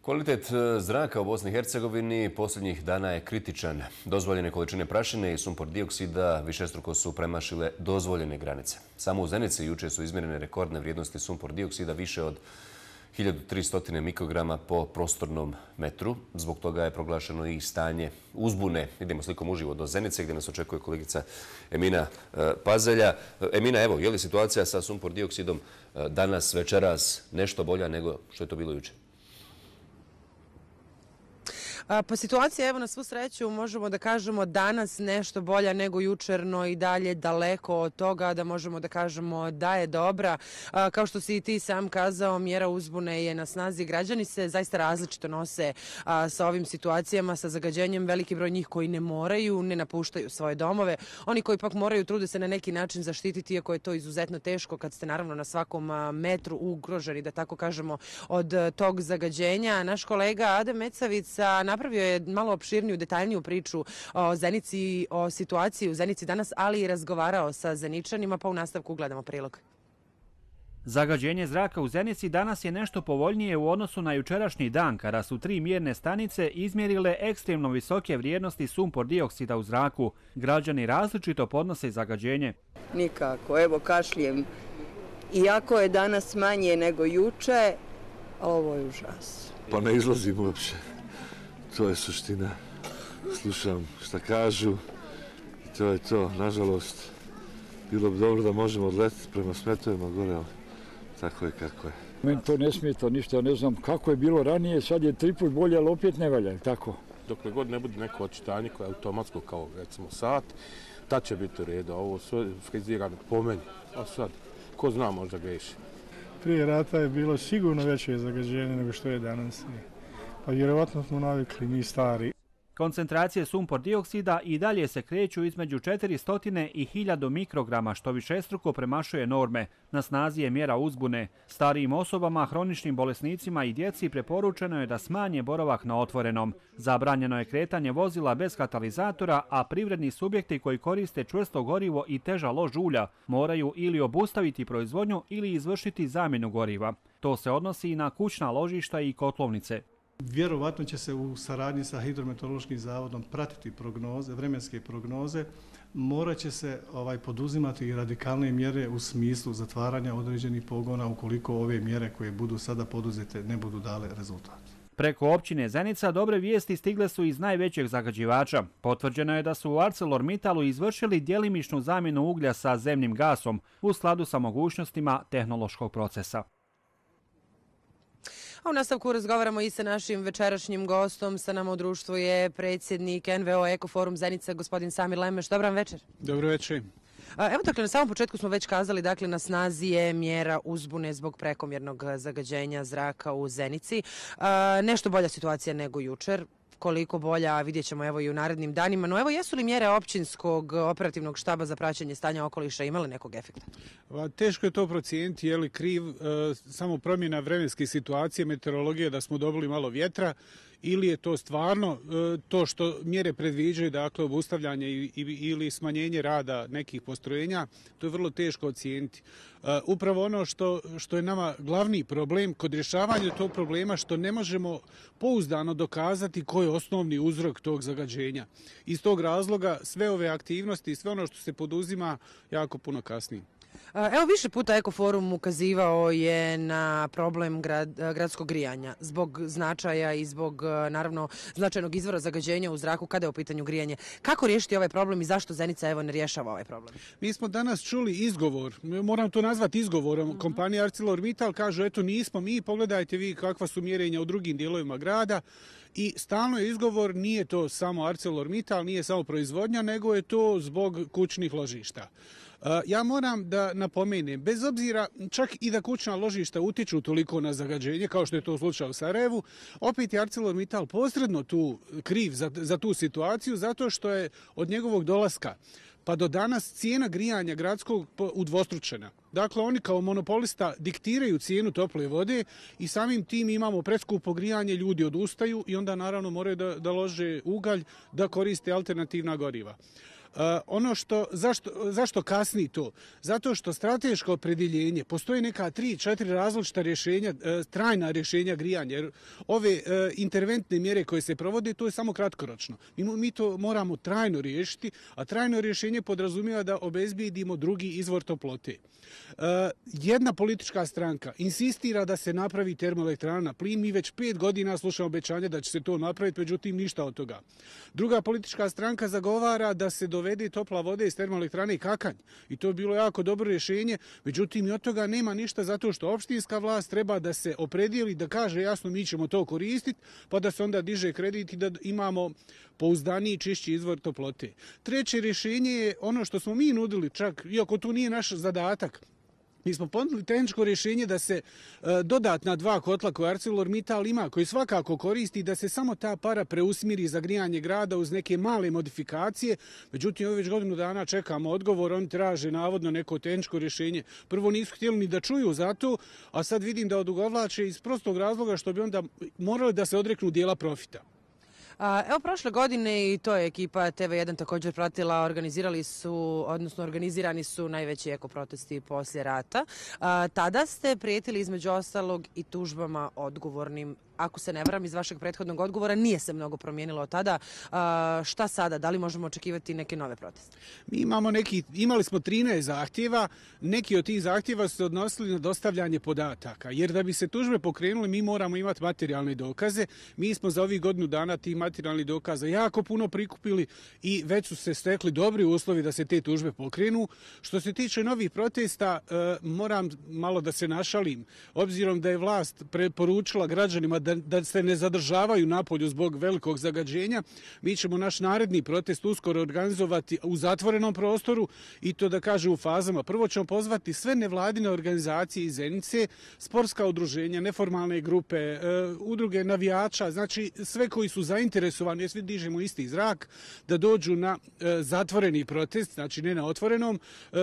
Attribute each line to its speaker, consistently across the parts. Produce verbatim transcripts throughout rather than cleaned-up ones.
Speaker 1: Kvalitet zraka u Bosni i Hercegovini posljednjih dana je kritičan. Dozvoljene količine prašine i sumpor dioksida višestruko su premašile dozvoljene granice. Samo u Zenici juče su izmjerene rekordne vrijednosti sumpor dioksida više od hiljadu tristo mikrograma po prostornom metru. Zbog toga je proglašeno i stanje uzbune. Idemo slikom uživo do Zenice gdje nas očekuje kolegica Emina Pazelja. Emina, evo, je li situacija sa sumpor dioksidom danas, večeras nešto bolja nego što je to bilo juče?
Speaker 2: Pa situacija, evo, na svu sreću možemo da kažemo danas nešto bolja nego jučer, no i dalje daleko od toga da možemo da kažemo da je dobra. Kao što si i ti sam kazao, mjera uzbune je na snazi. Građani se zaista različito nose sa ovim situacijama, sa zagađenjem. Veliki broj njih koji ne moraju, ne napuštaju svoje domove. Oni koji pak moraju, trude se na neki način zaštititi, iako je to izuzetno teško kad ste naravno na svakom metru ugroženi, da tako kažemo, od tog zagađenja. Naš kolega Adem Mecavica napravio je malo opširniju, detaljniju priču o Zenici, o situaciji u Zenici danas, ali i razgovarao sa Zeničanima, pa u nastavku gledamo prilog.
Speaker 3: Zagađenje zraka u Zenici danas je nešto povoljnije u odnosu na jučerašnji dan, kada su tri mjerne stanice izmjerile ekstremno visoke vrijednosti sumpor dioksida u zraku. Građani različito podnose zagađenje.
Speaker 4: Nikako, evo kašljem. Iako je danas manje nego juče, ovo je užas.
Speaker 5: Pa ne izlazim uopće. To je suština. Slušam šta kažu i to je to. Nažalost, bilo bi dobro da možemo odletiti prema smetovima gore, ali tako je kako je.
Speaker 6: Meni to ne smeta ništa, ja ne znam kako je bilo ranije, sad je tri put bolje, ali opet ne valja, tako?
Speaker 7: Dokle god ne bude neko očitanje koje je automatsko kao recimo sat, tad će biti u redu. Ovo sve frizirano po meni, a sad, ko zna možda greši.
Speaker 8: Prije rata je bilo sigurno veće zagađenje nego što je danas. Pa vjerovatno smo navikli, mi stari.
Speaker 3: Koncentracije sumpor dioksida i dalje se kreću između četiristo i hiljadu mikrograma, što višestruko premašuje norme. Na snazi je mjera uzbune. Starijim osobama, hroničnim bolesnicima i djeci preporučeno je da smanje boravak na otvorenom. Zabranjeno je kretanje vozila bez katalizatora, a privredni subjekti koji koriste čvrsto gorivo i teža lož ulja moraju ili obustaviti proizvodnju ili izvršiti zamjenu goriva. To se odnosi i na kućna ložišta i kotlovnice.
Speaker 8: Vjerovatno će se u saradnji sa Hidrometeorološkim zavodom pratiti prognoze, vremenske prognoze. Morat će se ovaj, poduzimati i radikalne mjere u smislu zatvaranja određenih pogona ukoliko ove mjere koje budu sada poduzete ne budu dale rezultat.
Speaker 3: Preko općine Zenica dobre vijesti stigle su iz najvećeg zagađivača. Potvrđeno je da su u ArcelorMittalu izvršili djelimičnu zamjenu uglja sa zemnim gasom u skladu sa mogućnostima tehnološkog procesa.
Speaker 2: A u nastavku razgovaramo i sa našim večerašnjim gostom. Sa nama u društvu je predsjednik N V O Ekoforum Zenica, gospodin Samir Lemeš. Dobran večer.
Speaker 9: Dobro večer.
Speaker 2: Evo, dakle, na samom početku smo već kazali, dakle, na snazi je mjera uzbune zbog prekomjernog zagađenja zraka u Zenici. Nešto bolja situacija nego jučer. Koliko bolja, vidjet ćemo evo i u narednim danima. No evo, jesu li mjere općinskog operativnog štaba za praćenje stanja okoliša imale nekog efekta?
Speaker 9: Teško je to procijeniti, je li kriv e, samo promjena vremenske situacije, meteorologije, da smo dobili malo vjetra, ili je to stvarno e, to što mjere predviđaju, dakle obustavljanje i, i, ili smanjenje rada nekih postrojenja, to je vrlo teško ocijeniti. E, upravo ono što, što je nama glavni problem kod rješavanja tog problema, što ne možemo pouzdano dokazati koji je osnovni uzrok tog zagađenja. Iz tog razloga sve ove aktivnosti i sve ono što se poduzima jako puno kasnije.
Speaker 2: Evo, više puta Ekoforum ukazivao je na problem grad, gradskog grijanja zbog značaja i zbog, naravno, značajnog izvora zagađenja u zraku kada je u pitanju grijanje. Kako riješiti ovaj problem i zašto Zenica evo ne rješava ovaj problem?
Speaker 9: Mi smo danas čuli izgovor, moram to nazvati izgovorom, mm-hmm. Kompanija ArcelorMittal kaže, eto nismo mi, pogledajte vi kakva su mjerenja u drugim dijelovima grada. I stalno je izgovor, nije to samo ArcelorMittal, nije samo proizvodnja, nego je to zbog kućnih ložišta. Ja moram da napomenem, bez obzira čak i da kućna ložišta utiču toliko na zagađenje, kao što je to slučaj u Sarajevu, opet je ArcelorMittal posredno tu kriv za, za tu situaciju, zato što je od njegovog dolaska pa do danas cijena grijanja gradskog udvostručena. Dakle, oni kao monopolista diktiraju cijenu tople vode i samim tim imamo preskupo grijanje, ljudi odustaju i onda naravno moraju da, da lože ugalj, da koriste alternativna goriva. ono što, zašto, zašto kasni to? Zato što strateško opredjeljenje, postoji neka tri, četiri različita rješenja, trajna rješenja grijanja, jer ove interventne mjere koje se provode, to je samo kratkoročno. Mi, mi to moramo trajno riješiti, a trajno rješenje podrazumijeva da obezbijedimo drugi izvor toplote. Jedna politička stranka insistira da se napravi termoelektrana na plin, mi već pet godina slušamo obećanje da će se to napraviti, međutim ništa od toga. Druga politička stranka zagovara da se dovede topla voda iz termoelektrane Kakanj i to je bilo jako dobro rješenje, međutim i od toga nema ništa zato što opštinska vlast treba da se opredijeli, da kaže jasno mi ćemo to koristiti, pa da se onda diže kredit i da imamo pouzdaniji, čišći izvor toplote. Treće rješenje je ono što smo mi nudili, čak iako to nije naš zadatak. Mi smo ponudili tehničko rješenje da se e, dodatna dva kotla koje ArcelorMittal ima, koji svakako koristi, da se samo ta para preusmiri za grijanje grada uz neke male modifikacije. Međutim, ovo već godinu dana čekamo odgovor, oni traže navodno neko tehničko rješenje. Prvo nisu htjeli ni da čuju za to, a sad vidim da odugovlače iz prostog razloga što bi onda morali da se odreknu dijela profita.
Speaker 2: Evo, prošle godine i to je ekipa T V jedan također pratila, organizirali su, odnosno organizirani su najveći eko protesti poslije rata. Tada ste prijetili između ostalog i tužbama odgovornim. Ako se ne varam iz vašeg prethodnog odgovora, nije se mnogo promijenilo od tada. Šta sada? Da li možemo očekivati neke nove proteste?
Speaker 9: Mi imamo neki, imali smo trinaest zahtjeva, neki od tih zahtjeva su se odnosili na dostavljanje podataka, jer da bi se tužbe pokrenule mi moramo imati materijalne dokaze. Mi smo za ovih godinu dana tih materijalnih dokaza jako puno prikupili i već su se stekli dobri uslovi da se te tužbe pokrenu. Što se tiče novih protesta, moram malo da se našalim, obzirom da je vlast preporučila građanima da da se ne zadržavaju napolju zbog velikog zagađenja. Mi ćemo naš naredni protest uskoro organizovati u zatvorenom prostoru i to da kaže u fazama. Prvo ćemo pozvati sve nevladine organizacije iz Zenice, sportska udruženja, neformalne grupe, udruge navijača, znači sve koji su zainteresovani, jer svi dižemo isti zrak, da dođu na zatvoreni protest, znači ne na otvorenom.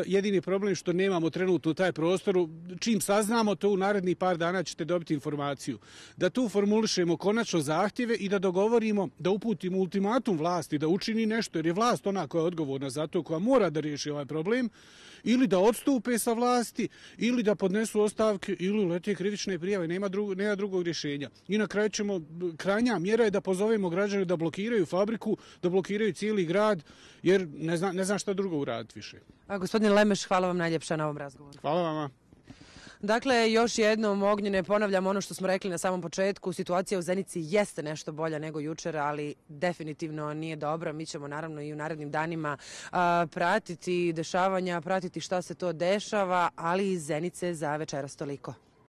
Speaker 9: Jedini problem što nemamo trenutno taj prostor, čim saznamo to u narednih par dana ćete dobiti informaciju. Da tu formulišemo konačno zahtjeve i da dogovorimo, da uputimo ultimatum vlasti, da učini nešto, jer je vlast ona koja je odgovorna za to, koja mora da riješi ovaj problem, ili da odstupe sa vlasti, ili da podnesu ostavke, ili lete krivične prijave. Nema, drug, nema drugog rješenja. I na kraju ćemo, krajnja mjera je da pozovemo građane da blokiraju fabriku, da blokiraju cijeli grad, jer ne znam, ne znam šta drugo uraditi više.
Speaker 2: A, gospodin Lemeš, hvala vam najljepša na ovom razgovoru.
Speaker 9: Hvala vama.
Speaker 2: Dakle, još jednom, Ognjene, ponavljam ono što smo rekli na samom početku. Situacija u Zenici jeste nešto bolja nego jučer, ali definitivno nije dobra. Mi ćemo naravno i u narednim danima a, pratiti dešavanja, pratiti šta se to dešava, ali iz Zenice za večeras toliko.